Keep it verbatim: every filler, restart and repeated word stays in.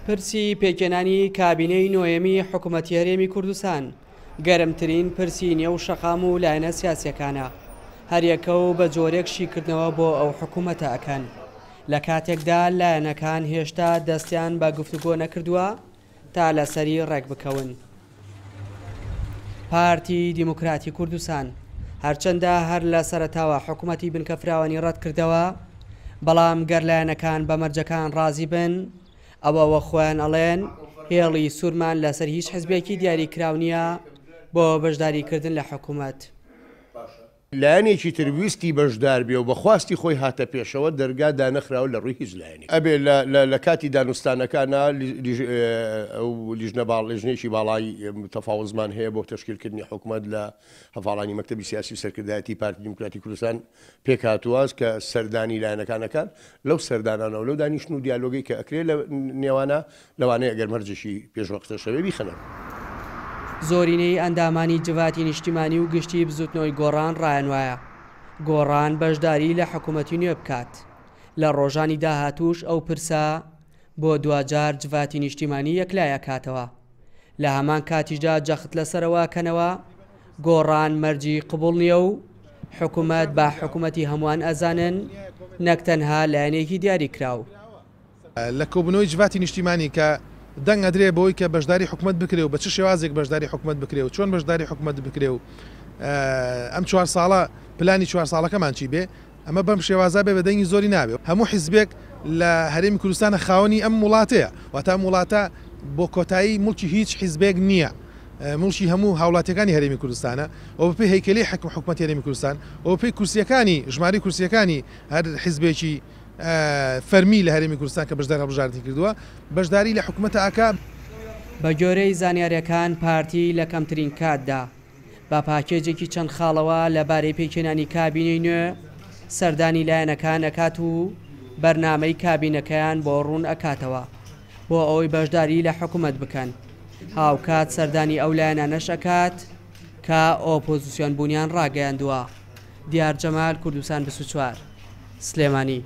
پرسی پێکهێنانی کابینەی نۆیەمی حکوومەتی هەرێمی کوردستان گەرمترین پرسی نێو شەقام و لایەنە سیاسیەکانە، هەریەکە و بە جۆرێک شیکردنەوە بۆ ئەو حکوومەتە ئەکەن، لە کاتێکدا لایەنەکان هێشتا دەستیان بە گفتوگۆ نەکردووە تا لەسەری ڕێک بکەون. پارتی دیموکراتی کوردستان هەرچەندە هەر لە سەرەتاوە حکوومەتی بنکەفراوانی ڕەت کردەوە، بەڵام گەر لایەنەکان بە مەرجەکان ڕازی بن ئەوەوە خۆیان ئەڵێن هێڵی سوورمان لەسەر هیچ حزبێکی دیاری کراو نییە بۆ بەشداریکردن لە حکوومەت. لایەنێکی تر ویستی بەشدار بێ و بەخواستی خۆی هاتە پێشەوە دەرگا دانەخراوە لە ڕووی هیچ لایەنێک. ئەبێ لە کاتی دانوستانەکانە ئەو لیژنە باڵ لیژنەیەکی باڵای تەفاوزمان هەیە بۆ تەشکیلکردنی حکوومەت لە هەڤاڵانی مەکتەبی سیاسی و سەرکردایەتی پارتی دیموکراتی کوردستان پێکهاتووە کە سەردانی لایەنەکانەکان لەو سەردانانەوە لەو دانیشتن و دیالۆگەی کە ئەکرێ لە نێوانە لەوانەیە ئەگەر مەرجێکی پێشوەختەشەوێ بیخەنەوە. زۆرینەی ئەندامانی جڤاتی نیشتیمانی و گشتی بزوتنەوەی گۆڕان ڕایان وایە گۆڕان بەشداری لە حکوومەتی نوێ بکات. لە ڕۆژانی داهاتووش ئەو پرسە بۆ دواجار جڤاتی نیشتیمانی یەکلای ئەکاتەوە. لە هەمان کاتیشدا جەخت لەسەرەوە کەنەوە گۆڕان مەرجی قبوڵ نییە و حکوومەت بە حکوومەتی هەمووان ئەزانن نەک تەنها لایەنێکی دیاری کراو. لە کۆبوونەوەی جڤاتی نیشتیمانی کە دەنگ ئەدرێ بۆی کە بەشداری حکوومەت بکرێ و بە چ شێوازێک بەشداری حکوومەت بکرێ و چۆن بەشداری حکوومەت بکرێ و ئەم چوار ساڵە پلانی چوار ساڵەکەمان چی بێ، ئەمە بەم شێوازە بێ بە دەنگی زۆری نابێ. هەموو حیزبێک لە هەرێمی کوردستانە خاوەنی ئەم وڵاتەیە، واتە ئەم وڵاتە بۆ کۆتایی مڵکی هیچ حیزبێک نییە، مڵکی هەموو هاوڵاتیەکانی هەرێمی کوردستانە و بەپێی هەیکەلی حکوم حکوومەتی هەرێمی کوردستان و بەپێی کورسیەکانی ژمارەی کورسیەکانی هەر حیزبێکی فەرمی لە هەرێمی کوردستان کە بەشداری هەڵبژاردنی کردووە بەشداری لە حکوومەتە ئاکا. بە گوێرەی زانیاریەکان پارتی لە کەمترین کاتدا بە پاکێجێکی چەند خاڵەوە لەبارەی پێکهێنانی کابینەی نوێ سەردانی لایەنەکان ئەکات و بەرنامەی کابینەکەیان بۆ ڕوون ئەکاتەوە بۆ ئەوەی بەشداری لە حکوومەت بکەن. هاوکات سەردانی ئەو لایەنانەش ئەکات کە ئۆپۆزیسیۆن بوونیان ڕاگەیاندووە. دیار جەمال، کوردستان بیست و چوار، سلێمانی.